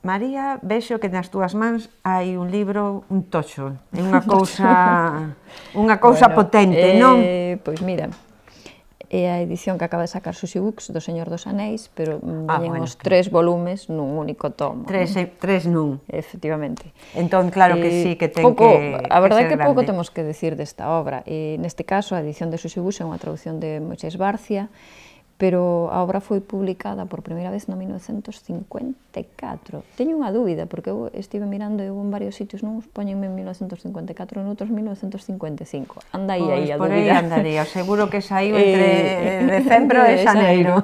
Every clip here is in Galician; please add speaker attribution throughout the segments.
Speaker 1: María, vexo que nas túas mans hai un libro, un tocho, é unha cousa potente, non?
Speaker 2: Pois mira, é a edición que acaba de sacar Susi Books do Señor dos Anéis, pero veñen os 3 volumes nun único tomo.
Speaker 1: 3 nun.
Speaker 2: Efectivamente.
Speaker 1: Entón, claro que sí, que ten que ser grande.
Speaker 2: A verdade é que pouco temos que decir desta obra. Neste caso, a edición de Susi Books é unha traducción de Moisés Barcia, pero a obra foi publicada por primeira vez no 1954. Teño unha dúbida, porque eu estive mirando en varios sitios, non os poñen en 1954, en outros 1955. Anda aí a dúbida.
Speaker 1: Por aí andaría, seguro que saiu entre decembro e xaneiro.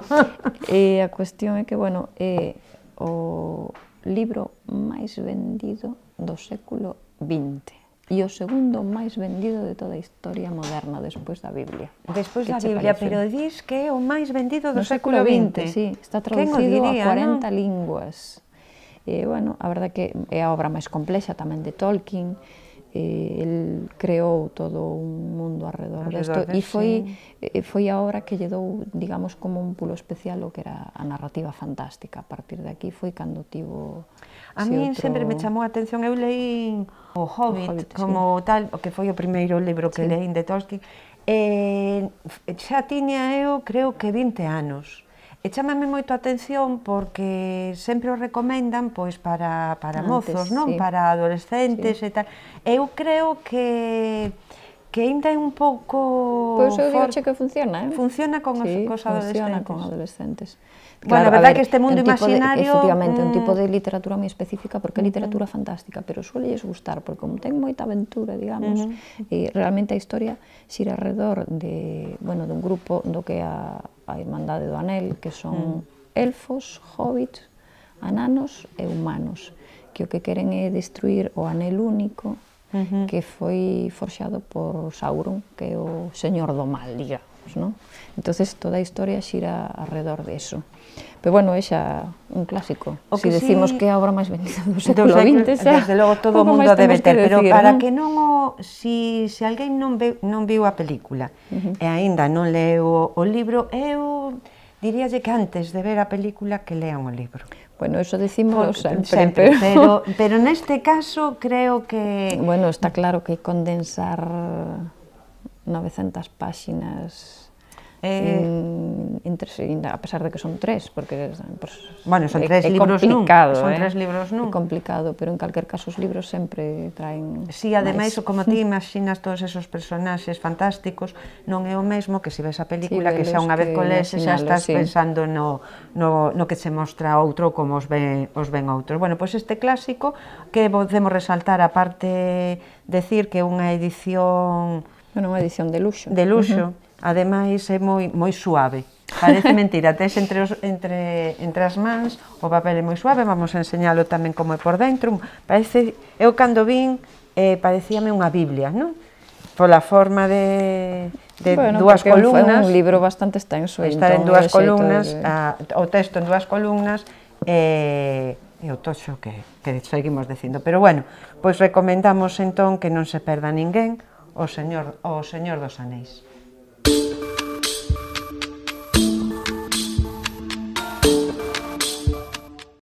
Speaker 2: E a cuestión é que, bueno, é o libro máis vendido do século XX. E o segundo máis vendido de toda a historia moderna, despois da Biblia.
Speaker 1: Despois da Biblia, pero dis que é o máis vendido do século XX.
Speaker 2: Sí, está traducido a 40 linguas. Bueno, a verdade que é a obra máis complexa tamén de Tolkien. El creou todo un mundo arredor desto e foi a obra que lle dou, digamos, como un pulo especial o que era a narrativa fantástica. A partir de aquí foi cando tivo...
Speaker 1: A mí sempre me chamou a atención, eu leí o Hobbit como tal, o que foi o primeiro libro que leí de Tolkien, xa tiña eu, creo que 20 anos. E chámame moito a atención porque sempre o recomendan pois para mozos, non? Para adolescentes e tal. Eu creo que ainda é un pouco...
Speaker 2: Pois eu digo que funciona,
Speaker 1: Funciona con os adolescentes.
Speaker 2: Funciona con adolescentes.
Speaker 1: Bueno, a verdade que este mundo imaginario...
Speaker 2: Efectivamente, un tipo de literatura moi específica, porque é literatura fantástica, pero suelles gustar, porque como ten moita aventura, digamos, e realmente a historia xira alrededor dun grupo do que é a Irmandade do Anel, que son elfos, hobbits, ananos e humanos, que o que queren é destruir o Anel Único, que foi forxado por Sauron, que é o señor do mal, digamos, non? Entonces toda a historia xira alrededor de eso. Pero bueno, é xa un clásico. Se decimos que é a obra máis vendida do século XX,
Speaker 1: desde logo todo o mundo debe ter, pero para que non o... Se alguén non viu a película e aínda non leu o libro, eu diríalle que antes de ver a película que lean o libro.
Speaker 2: Bueno, eso decímolo sempre.
Speaker 1: Pero neste caso creo que...
Speaker 2: Bueno, está claro que condensar 900 páxinas... a pesar de que son 3, porque
Speaker 1: bueno, son 3 libros nun, é
Speaker 2: complicado, pero en calquer caso os libros sempre traen...
Speaker 1: Si, ademais, como ti imaginas todos esos personaxes fantásticos, non é o mesmo que se ves a película, que xa unha vez colese xa estás pensando no que se mostra outro como os ven outros. Bueno, pois este clásico que podemos resaltar, aparte decir que é unha edición...
Speaker 2: Bueno, unha edición de luxo.
Speaker 1: De luxo. Ademais é moi suave, parece mentira, tes entre as mans, o papel é moi suave, vamos a enseñalo tamén como é por dentro, parece, eu cando vin, parecíame unha Biblia, non? Pola forma de dúas columnas.
Speaker 2: É un libro bastante extenso.
Speaker 1: Estar en dúas columnas, o texto en dúas columnas, e o toxo que seguimos dicindo, pero bueno, pois recomendamos entón que non se perda ninguén o Señor dos Anéis.